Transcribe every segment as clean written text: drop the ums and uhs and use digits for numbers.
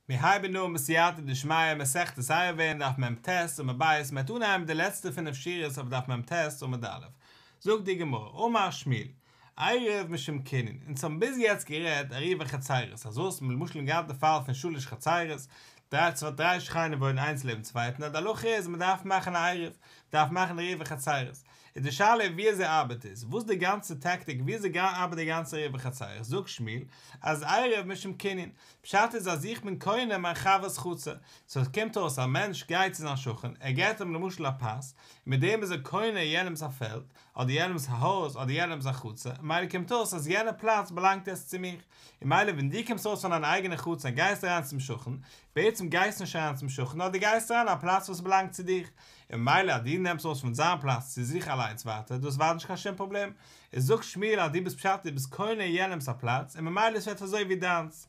מיר הייבן אן בסייעתא דשמיא מסכת עירובין דף מ"ט עמוד ב', מ'וועט אנהייבן די לעצטע פינף שורות אויף דף מ"ט עמוד א'. זאגט די גמרא, אמר שמואל, עירוב משום קנין, אונז האבן ביז יעצט גערעדט עירובי חצירות, אז וואס מ'האט למשל געהאט די פאל פון שלש חצירות, דריי צוויי דריי שכנים וואוינען איינס לעבן צווייטן, אז די הלכה איז מ'דארף מאכן א עירוב, מ'דארף מאכן עירובי חצירות, איז די שאלה ווי אזוי ארבעט עס, וואס די גאנצע טעקטיק ווי אזוי ארבעט די גאנצע עירובי חצירות, זאגט שמואל אז עירוב משום קנין, פשט איז אז איך בין קונה מיין חבר'ס חצר, סאו עס קומט אויס א מענטש גייט צו זיין שכן, ער געט אים למשל א פת, און מיט דעם איז ער קונה יענעמס א פעלד, אדער יענעמס א הויז, אדער יענעמס א חצר, ממילא קומט אויס אז יענע פלאץ באלאנגט יעצט צו מיך, און ממילא ווען דו קומסט ארויס פון דיין אייגענע חצר און גייסט אריין צום שכן, בעצם גייסטו נישט אריין צום שכן נאר דו גייסט אריין א פלאץ וואס באלאנגט צו דיך, און ממילא אז דו נעמסט ארויס פון זיין פלאץ צו זיך אליינס ווייטער, דאס ווייטער נישט קיין שום פראבלעם, איז זאגט שמואל אז דו ביסט פשט דו ביסט קונה יענעמס א פלאץ און ממילא עס ווערט אזוי ווי דיינס.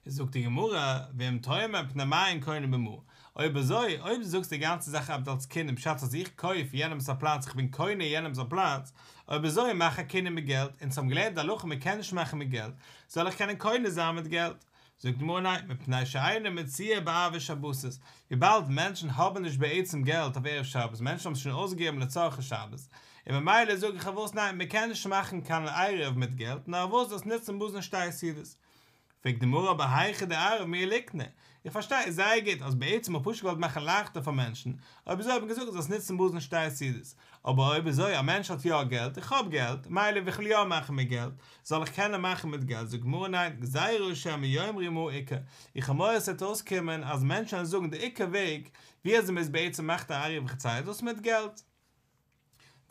איז זאגט די גמרא, ואם תאמר מפני מה אין קונה במעה, אויב אזוי, אויב דו זאגסט די גאנצע זאך ארבעט אלס קנין פשט אז איך קויף יענעמס א פלאץ איך בין קונה יענעמס א פלאץ, אויב אזוי מאך א קנין מיט געלט, אונז האבן געלערנט די הלכה מען קען נישט מאכן מיט געלט, זאל איך קענען קונה זיין מיט געלט? זאגט די גמרא ניין, מפני שאינה מצויה בערבי שבתות, וויבאלד מענטשן האבן נישט בעצם געלט אויף ערב שבת, מענטשן האבן עס שוין אויסגעגעבן לצרכי שבת, און ממילא זאג איך וואס ניין, מען קען נישט מאכן קיין עירוב מיט געלט, נאר וואס דאס נוצן מזון שתי סעודות. פרעגט די גמרא אבער היכא דערב מיהא ליקני, איך פארשטיי זייער גוט אז בעצם האט פשוט געוואלט מאכן לייכטער פאר מענטשן, אויב אזוי האט מען געזאגט זאלסט נוצן מזון שתי סעודות, אבער אויב אזוי א מענטש האט יא געלט, איך האב געלט, מילא איך וויל יא מאכן מיט געלט, זאל איך קענען מאכן מיט געלט, זאגט גמרא ניין, גזירה שמא יאמרו מעה עיקר, איך האב מורא עס וועט אויסקומען אז מענטשן וועלן זאגן די עיקר וועג ווי אזוי מען איז בעצם מאכט א עירובי חצירות דאס מיט געלט.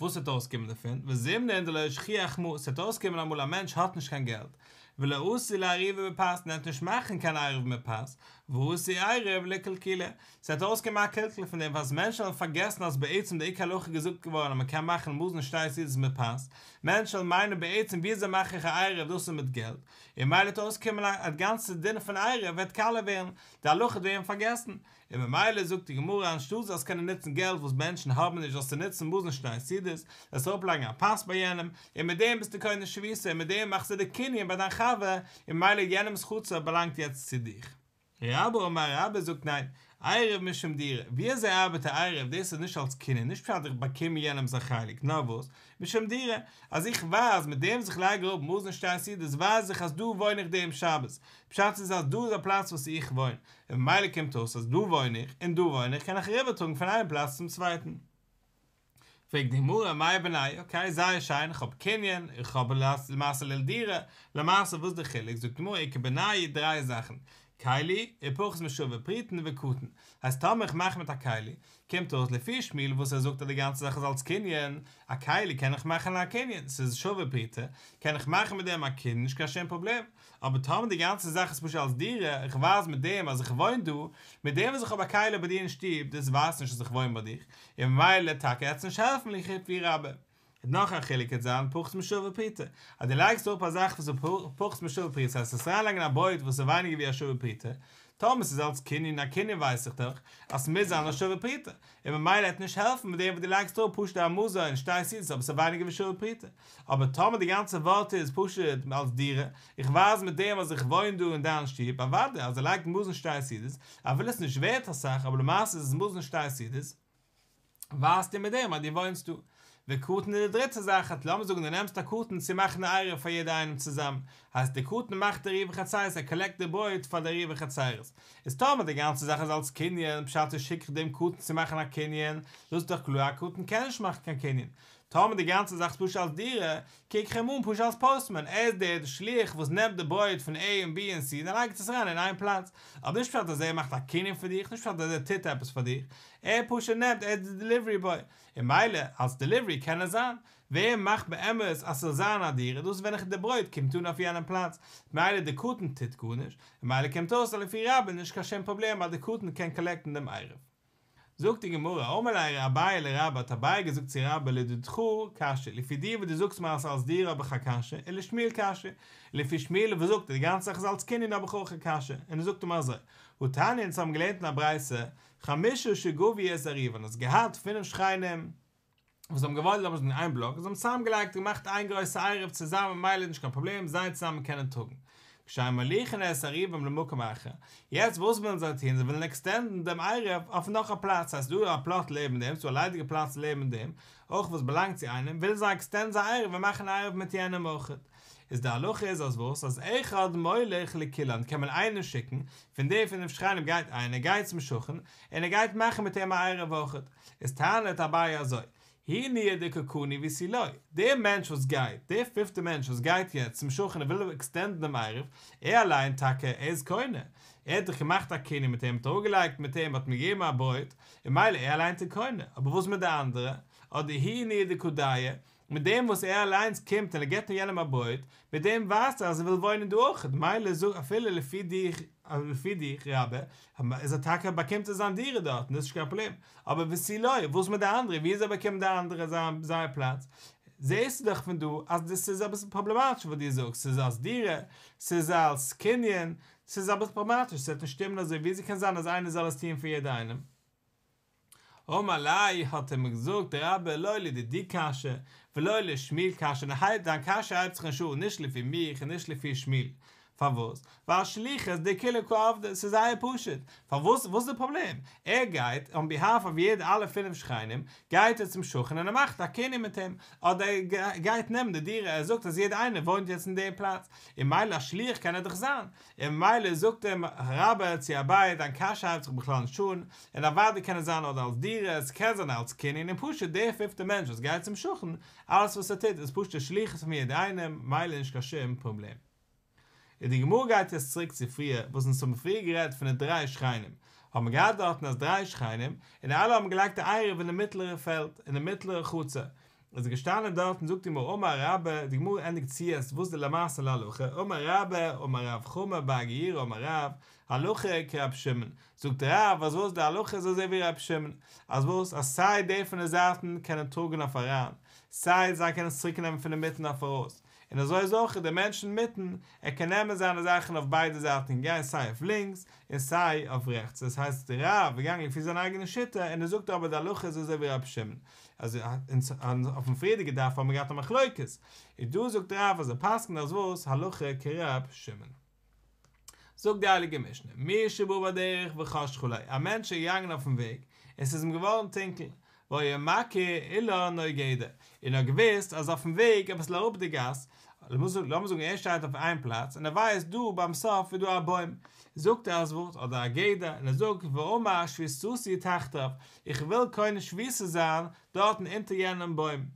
וואס וועט אויסקומען דערפון? וזימנין דלא שכיח מעה, ס'וועט אויסקומען אמאל א מענטש האט נישט קיין געלט, ולא אתי לאערובי בפת, און ער וועט נישט מאכן קיין עירוב מיט פת, ואתי עירוב לקלקולא, ס'וועט אויסקומען א קלקול פון דעם וואס מענטשן וועלן פארגעסן אז בעצם די עיקר הלכה איז געזאגט געווארן אז מ'קען מאכן מזון שתי סעודות מיט פת, מענטשן וועלן מיינען בעצם וויאזוי מאך איך א עירוב דאס איז מיט געלט, און ממילא וועט אויסקומען אז די גאנצע דין פון עירוב וועט קאליע ווערן, די הלכה וועט ווערן פארגעסן, און ממילא זאגט די גמרא אנשטאט זאלסט קענען נוצן געלט וואס מענטשן האבן נישט זאלסטו נוצן מזון שתי סעודות, זאלסט אראפלייגן א פת ביי יענעם, און מיט דעם ביסטו קונה שביתה און מיט דעם מאכסטו די קנין ביי דיין חבר, און ממילא יענעמ'ס חצר באלאנגט יעצט צו דיך. רבה אמר רבה זאגט ניין, עירוב משום דירה, ווי אזוי ארבעט א עירוב, דאס איז נישט אלס קנין, נישט פשט איך באקום יענעמ'ס א חלק, נאר וואס, משום דירה, אז איך ווייז מיט דעם וואס איך לייג אראפ מזון שתי סעודות ווייז איך אז דא וואוין איך דעם שבת, פשט איז אז דא איז א פלאץ וואס איך וואוין, און ממילא קומט אויס אז דא וואוין איך און דא וואוין איך קען איך אריבערטראגן פון איין פלאץ צום צווייטן. פרעגט די גמרא מאי בינייהו, אקעי זייער שיין איך האב קנין, איך האב למעשה לדירה, למעשה וואס די חילוק, זאגט די גמרא איכא בינייהו דריי זאכן, כלי, ופחות משווה פרוטה וקטן, הייסט טאמער איך מאך מיט א כלי, קומט אויס לפי שמואל וואס ער זאגט אז די גאנצע זאך איז אלס קנין, א כלי קען איך מאכן א קנין, ס'איז שווה פרוטה, קען איך מאכן מיט דעם א קנין נישט קיין שום פראבלעם, אבער טאמער די גאנצע זאך איז פשוט אלס דירה, איך ווייז מיט דעם אז איך וואוין דא, מיט דעם וואס איך האב א כלי ביי דיר אין שטוב, דאס ווייזט נישט אז איך וואוין ביי דיך, און ממילא טאקע עט עס נישט העלפן לפי רבה. און נאך א חילוק קען זיין פחות משווה פרוטה, אז דו לייגסט אראפ א זאך וואס איז פחות משווה פרוטה, ס'הייסט עס אריינלייגן א ברויט וואס איז ווייניגער ווי א שווה פרוטה, טאמער ס'איז אלס קנין, א קנין ווייס איך דאך אז ס'מוז זיין א שווה פרוטה, און ממילא עט נישט העלפן מיט דעם וואס דו לייגסט אראפ פשוט א מזון שתי סעודות אבער ס'איז ווייניגער ווי שווה פרוטה. אבער טאמער די גאנצע ווארט איז פשוט אלס דירה, איך ווייז מיט דעם אז איך וואוין דא אין דיין שטוב, אוודאי אז ער לייגט מזון שתי סעודות, אפילו עס איז נישט ווערט אסאך אבער למעשה איז עס מזון שתי סעודות, ווייזטו מיט דעם אז דו וואוינסט דא. וקטן איז די דריטע זאך, אז לאמיר זאגן דו נעמסט א קטן צו מאכן א עירוב פאר יעדע איינעם צוזאמען, הייסט די קטן מאכט די עירובי חצירות ער קאלעקט די ברויט פאר די עירובי חצירות, איז טאמער די גאנצע זאך איז אלס קנין, פשט איז שיק איך דעם קטן צו מאכן א קנין, דאס איז דאך קלאר א קטן קען נישט מאכן קיין קנין, טאמער די גאנצע זאך איז פשוט אלס דירה, קוק איך אים אן פשוט אלס פאוסטמען, ער איז דער שליח וואס נעמט די ברויט פון עי און בי און סי און ער לייגט עס אריין אין איין פלאץ, אבער נישט פשט אז ער מאכט א קנין פאר דיך, נישט פשט אז ער טוט עפעס פאר דיך, ער פשוט נעמט, ער איז די דעליווערי בוי, און ממילא אלס דעליווערי קען ער זיין, ווער מאכט באמת אז ס'זאל זיין א דירה, דאס איז ווען איך די ברויט קומט אן אויף יענעם פלאץ, ממילא די קטן טוט גארנישט, און ממילא קומט אויס אז לפי רבה איז נישט קיין שום פראבלעם אז די קטן קען קאלעקטן דעם עירוב. זאגט די גמרא, אמר ליה אביי לרבה, האט אביי געזאגט צו רבה לדידך קשיא, לפי דיר וואס דו זאגסט מיר אז ס'איז אלס דירה האב איך א קשיא, ולשמואל קשיא, לפי שמואל וואס זאגט אז די גאנצע זאך איז אלס קנין האב איך אויך א קשיא, און ער זאגט אים אזוי, התניא אונז האבן געלערנט אין א ברייתא, חמשה שגבו את עירובן, האסט געהאט פינף שכנים, וואס האבן געוואוינט לאמיר זאגן אין איין בלאק, זיי האבן צוזאם געלייגט און געמאכט איין גרויסע עירוב צוזאמען ממילא איז נישט קיין פראבלעם זיי צוזאמען קענען טראגן. כשאין מוליכין את עירובם למקום אחר, יעצט וואס ווילן זיי טון, זיי ווילן עקסטענדן דעם עירוב אויף נאך א פלאץ, ס'הייסט ס'דא א פלאט לעבן דעם, ס'דא א ליידיגע פלאץ לעבן דעם, אויך וואס באלאנגט צו איינעם, ווילן זיי עקסטענדן זייער עירוב און מאכן א עירוב מיט יענעם אויך. איז די הלכה איז אז וואס, אז אחד מוליך לכולן קען מען איינעם שיקן, פון די פינף שכנים גייט איינער גייט צום שכן, און ער גייט מאכן מיט אים א עירוב אויך. איז טענה'ט אביי אזוי, הוא ניהו דקא קני ותו לא, דער מענטש וואס גייט, דער פיפטער מענטש וואס גייט יעצט צום שכן און וויל עקסטענדן דעם עירוב, ער אליין טאקע, ער איז קונה, ער האט דאך געמאכט א קנין מיט אים, האט אראפגעלייגט מיט אים, האט אים געגעבן א ברויט, און ממילא ער אליינס איז קונה, אבער וואס מיט די אנדערע? אדער הוא ניהו דקא דייר, מיט דעם וואס ער אליינס קומט און ער געבט יענעם א ברויט, מיט דעם ווייזט ער אז ער וויל וואוינען דא אויך, מילא זאג אפילו לפי דיך, לפי דיך רבה, איז ער טאקע באקומט ער זיין דירה דארטן, דאס איז נישט קיין פראבלעם, אבער ותו לא, וואס מיט די אנדערע, ווי אזוי באקומען די אנדערע זייער פלאץ? זעסטו דאך פון דא אז דאס איז אביסל פראבלעמאטיש וואס דו זאגסט, ס'איז אלס דירה, ס'איז אלס קנין, ס'איז אביסל פראבלעמאטיש, ס'וועט נישט שטימען אזוי, ווי אזוי קען זיין אז איינער זאל עס טוען פאר יעדער איינעם? אמר ליה האט אים געזאגט רבה לא לדידי קשיא ולא לשמואל קשיא ניין דיין קשיא הייבט זיך נישט אן נישט לפי מיך און נישט לפי שמואל פארוואס ווייל שליחות דכולהו קא עבדי ס'איז זייער פשוט פארוואס וואס איז די פראבלעם ער גייט אן ביהאלף אוו יעדע אלע פינף שכנים גייט ער צום שכן און ער מאכט א קנין מיט אים אדער ער גייט נעמען די דירה ער זאגט אז יעדע איינער וואוינט יעצט אין די פלאץ און מילא א שליח קען ער דאך זיין און ממילא זאגט אים רבה צו אביי דיין קשיא הייבט זיך בכלל נישט אן, און אוודאי קען עס זיין אדער אלס דירה, עס קען זיין אלס קנין, און פשוט דער פיפטער מענטש וואס גייט צום שכן, אלעס וואס ער טוט איז פשוט א שליחות פון יעדער איינעם, מילא נישט קיין שום פראבלעם. און די גמרא גייט יעצט צוריק צו פריער, וואס אונז האבן פריער גערעדט פון די דריי שכנים, האבן מיר געהאט דארטן אז דריי שכנים, און אלע האבן געלייגט א עירוב אין די מיטלערע פעלד, אין די מיטלערע חצר, איז ער געשטאנען דארט און זאגט די גמרא אמר רבה, די גמרא ענדיגט צו יעצט וואס די למעשה להלכה, אמר רבה, אמר רב חמא בר גוריא אמר רב, הלכה כרב שמעון, זאגט רב אז וואס די הלכה איז אזוי ווי רב שמעון, אז וואס אז סיי די פון די זייטן קענען טראגן אויף אריין, סיי זיי קענען עס צוריק נעמען פון אינמיטן אויף ארויס, און אזוי איז אויך דער מענטש אינמיטן, ער קען נעמען זיינע זאכן אויף ביידע זייטן און גיין סיי אויף לינקס און סיי אויף רעכטס, דאס הייסט רב איז געגאנגען לפי זיין אייגענע שיטה און ער זאגט אבער די הלכה איז אזוי ווי רב שמעון, אז אויפן פריערדיגע דף האבן מיר געהאט א מחלוקת, איז דא זאגט רב אז ער פסק'נט אז וואס, הלכה כרב שמעון. זאגט די הייליגע משנה, מי שבא בדרך וחשכה לו, א מענטש איז געגאנגען אויפן וועג, און ס'איז אים געווארן טונקל, והיה מכיר אילן או גדר, און ער האט געוואוסט אז אויפן וועג אביסל אראפ די גאס, לאמיר זאגן ער שטייט אויף איין פלאץ און ער ווייסט דא ביים סוף איז דא א בוים, זאגט ער אז וואס, אדער א גדר, און ער זאגט ואמר שביתתי תחתיו, איך וויל קונה שביתה זיין דארטן אונטער יענעם בוים,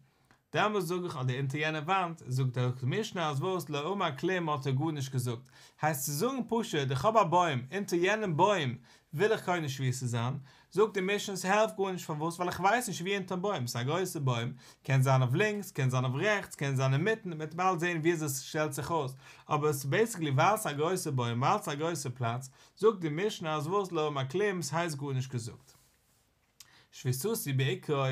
דעמאלס זאג איך אדער אונטער יענע וואנט, זאגט די משנה אז וואס לא אמר כלום האט ער גארנישט געזאגט, הייסט צו זאגן פשוט איך האב א בוים, אונטער יענעם בוים וויל איך קונה שביתה זיין, זאגט די משנה ס'העלפט גארנישט פארוואס ווייל איך ווייס נישט ווי אונטערן בוים, ס'איז א גרויסע בוים, קען זיין אויף לינקס קען זיין אויף רעכטס קען זיין אינמיטן, מ'וועט באלד זען ווי אזוי ס'שטעלט זיך אויס, אבער ס'איז בעיסיקלי ווייל ס'איז א גרויסע בוים ווייל ס'איז א גרויסע פלאץ, זאגט די משנה אז וואס לא אמר כלום ס'הייסט גארנישט געזאגט. שביתתי בעיקרו,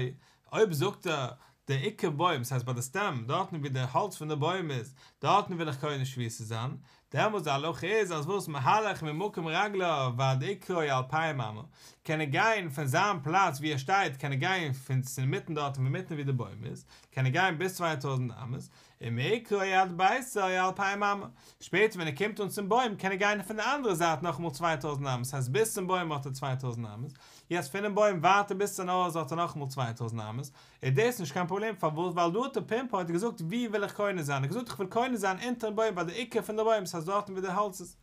אויב זאגט ער די עיקר בוים, ס'הייסט ביי די סטעם, דארטן ווי די האלץ פון די בוים איז, דארטן וויל איך קונה שביתה זיין, דעמאלטס די הלכה איז אז וואס מהלך ממקום רגליו ועד עיקרו אלפיים אמה, קען ער גיין פון זיין פלאץ ווי ער שטייט קען ער גיין פון אינמיטן דארטן אינמיטן ווי די בוים איז, קען ער גיין ביז 2000 אמות, ומעיקרו עד ביתו אלפיים אמה, שפעטער ווען ער קומט אן צום בוים קען ער גיין פון די אנדערע זייט נאכאמאל 2000 אמות, ס'הייסט ביז צום בוים האט ער 2000 אמות, יעצט פונעם בוים ווייטער ביז צום הויז האט ער נאכאמאל 2000 אמות, איז דאס נישט קיין פראבלעם פארוואס ווייל דא האט ער פינפוינט געזאגט ווי וויל איך קונה זיין, ער האט געזאגט איך וויל קונה זיין אונטערן בוים ביי די עיקר פון די בוים ס'הייסט דארטן ווי די האלץ איז.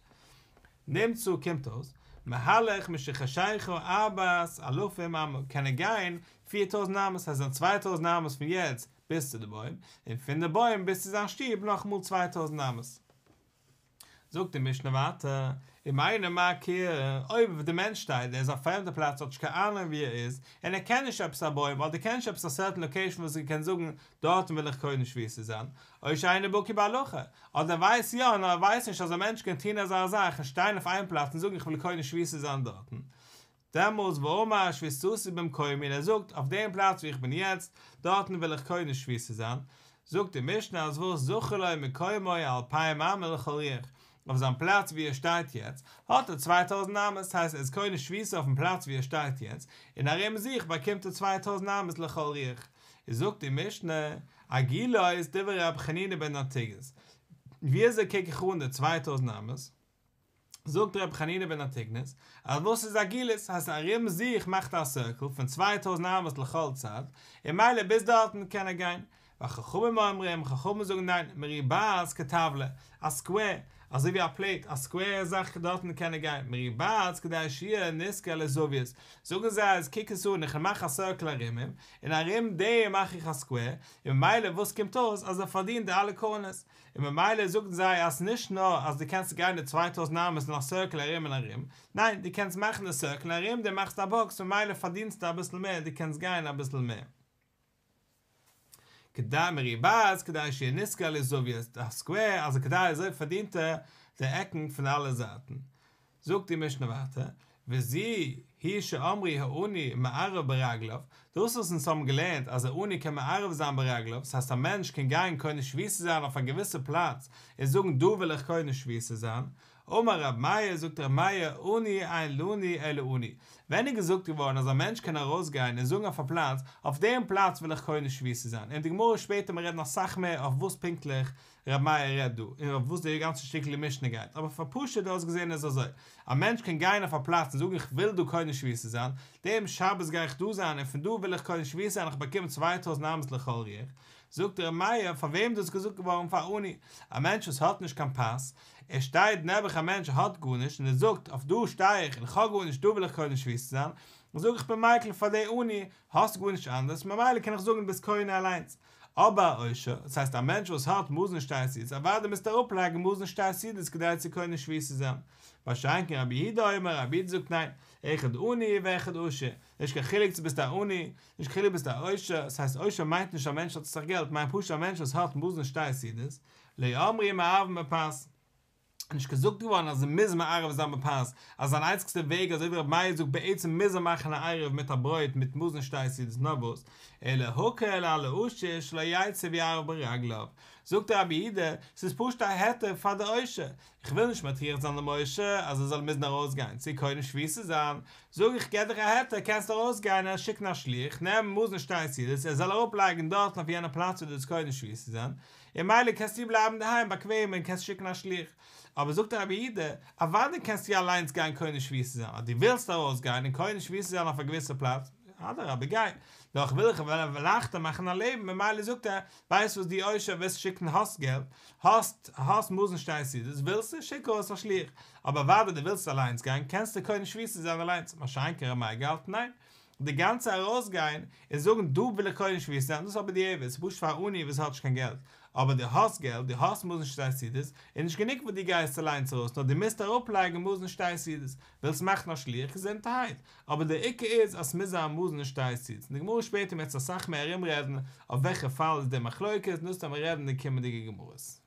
נמצא קומט אויס, מהלך משחשיכה ארבעת אלפים אמה, קען ער גיין 4000 אמות, ס'הייסט זיין 2000 אמות פון יעצט ביז צו די בוים, און פון די בוים ביז צו זיין שטוב נאכאמאל 2000 אמות. זאגט די משנה ווייטער, אם אינו מכיר, אויב די מענטש שטייט, ער איז אויף א פרעמדע פלאץ האט נישט קיין אהנונג ווי ער איז, און ער קען נישט עפעס א בוים, אדער קען נישט עפעס א סערטען לאקעישאן וואס ער קען זאגן דארטן וויל איך קונה שביתה זיין, או שאינו בקי בהלכה, אדער ער ווייסט יא נאר ער ווייסט נישט אז א מענטש קען טון אזא זאך און שטיין אויף איין פלאץ און זאגן איך וויל קונה שביתה זיין דארטן, דעמאלס ואמר שביתתי במקומי און ער זאגט אויף דעם פלאץ וואו איך בין יעצט, דארטן וויל איך קונה שביתה זיין, זאגט די משנה אז וואס זכין לו מקומו אלפיים אמה לכל רוח, אויף זיין פלאץ וואו ער שטייט יעצט, האט ער 2000 אמות, ס'הייסט ער איז קונה שביתה אויפן פלאץ וואו ער שטייט יעצט, און ארום זיך באקומט ער 2000 אמות לכל רוח. איז זאגט די משנה, עגולות דברי רבי חנינא בן אנטיגנוס. ווי אזוי קוק איך אן די 2000 אמות? זאגט רבי חנינא בן אנטיגנוס, אז וואס איז עגולית, הייסט ארום זיך מאכט ער א סירקל פון 2000 אמות לכל צד, און מילא ביז דארטן קען ער גיין. וחכמים אומרים, חכמים זאגן ניין, מרובעת כטבלא, א סקווער, אזוי ווי א פלעיט, א סקווער זאך דארטן קען ער גיין, מרובעת כדי שיהיה נשכר לזוויות, זאגן זיי אז קוק עס אן, איך מאך א סירקל ארום אים, און ארום דעם מאך איך א סקווער, און ממילא וואס קומט אויס אז ער פארדינט די אלע קארנערס, און ממילא זאגן זיי אז נישט נאר אז דו קענסט גיין די 2000 אמות אין א סירקל ארום און ארום, ניין, דו קענסט מאכן די סירקל און ארום דעם מאכסטו א באקס ממילא פארדינסטו אביסל מער, דו קענסט גיין אביסל מער. כדי מרובעת כדי שיהיה נשכר לזוויות, א סקווער, אז כדי אזוי פארדינט ער די עקן פון אלע זייטן. זאגט די משנה ווייטער, וזו היא שאמרו העני מערב ברגליו, דאס וואס אונז האבן געלערנט אז א עני קען מערב זיין ברגליו, ס'הייסט א מענטש קען גיין קונה שביתה זיין אויף א געוויסע פלאץ און זאגן דא וויל איך קונה שביתה זיין, אמר רב מאיר, זאגט רב מאיר, עני אין לנו אלא עני, ווען איז געזאגט געווארן אז א מענטש קען ארויסגיין און זאגן אויף א פלאץ, אויף דעם פלאץ וויל איך קונה שביתה זיין, און די גמרא שפעטער מיר רעדן אסאך מער אויף וואס פונקטליך ר' מאיר רעדט דא, און אויף וואס די גאנצע שטיקל משנה גייט, אבער פאר פשוט אויסגעזען איז אזוי, א מענטש קען גיין אויף א פלאץ און זאגן איך וויל דא קונה שביתה זיין, דעם שבת גיי איך דא זיין און פון דא וויל איך קונה שביתה זיין איך באקום 2000 אמות לכל רוח, זאגט ר' מאיר פאר וועם דאס געזאגט געווארן פאר עני, א מענטש וואס האט נישט קיין פת, ער שטייט נעבעך א מענטש האט גארנישט און ער זאגט אויף דא שטיי איך און איך האב גארנישט דא וויל איך קונה שביתה זיין, זאג איך בין מיקל פאר די עני, האסט גארנישט אנדערש ממילא קען איך זאגן ביסט קונה אליינס. אבער א עושר, דאס הייסט א מענטש וואס האט מזון שתי סעודות, אוודאי מוזטו אראפלייגן מזון שתי סעודות כדי צו קונה שביתה זיין. מה שאין כן רבי יהודה אומר, רבי יהודה זאגט ניין, אחד עני ואחד עשיר, נישט קיין חילוק צו ביסט א עני, נישט קיין חילוק ביסט א עושר, דאס הייסט עושר מיינט נישט א מענטש האט אסאך געלט, מיינט פשוט א מענטש וואס האט מזון שתי סעודות, לא אמרו מערבין בפת. נישט געזאגט געווארן אז ער מוז מערב זיין בפת, אז זיין איינציגסטע וועג אזוי ווי רבי מאיר זאגט בעצם מוז ער מאכן א עירוב מיט א ברויט מיט מזון שתי סעודות נאר וואס, אלא הקל על העשיר שלא יצא ויערב ברגליו, זאגט רבי יהודה, ס'איז פשוט א היתר פאר די עושר, איך וויל נישט מטריח זיין דעם עושר אז ער זאל מוזן ארויסגיין צו קונה שביתה זיין, זאג איך געב דיך א היתר קענסט ארויסגיין און שיקן א שליח נעם מזון שתי סעודות ער זאל אראפלייגן דארטן אויף יענע פלאץ וואו דו וועסט קונה שביתה זיין, און מילא קענסטו בלייבן אינדערהיים באקוועם און קענסט שיקן א שליח. אבער זאגט רבי יהודה, אוודאי קענסטו אליינס גיין קונה שביתה זיין, אז דו ווילסט ארויסגיין און קונה שביתה זיין אויף א געוויסע פלאץ, אדרבה גיי, נאר איך וויל איך וויל לייכטער מאכן א לעבן, ממילא זאגט ער, ווייסט וואס דו עושר ווילסט שיקן האסט געלט, האסט האסט מזון שתי סעודות, ווילסטו, שיק ארויס א שליח, אבער אוודאי דו ווילסט אליינס גיין, קענסטו קונה שביתה זיין אליינס, מה שאין כן ר' מאיר געהאלטן ניין, די גאנצע ארויסגיין און זאגן דא וויל איך קונה שביתה זיין, דאס איז א בדיעבד, ס'איז פשוט פאר א עני וואס האט נישט קיין געלט, אבער דו האסט געלט, דו האסט מזון שתי סעודות, איז נישט גענוג וואס דו גייסט אליינס ארויס, נאר דו מוזט אראפלייגן מזון שתי סעודות, ווילסט מאכן א שליח, געזונטערהייט, אבער דער עיקר איז אז ס'מוז זיין מזון שתי סעודות, און די גמרא שפעטער וועט אסאך מער ארומרעדן אויף וועלכע פאל איז די מחלוקת, און דאס וועט מען רעדן אין די קומענדיגע גמרות.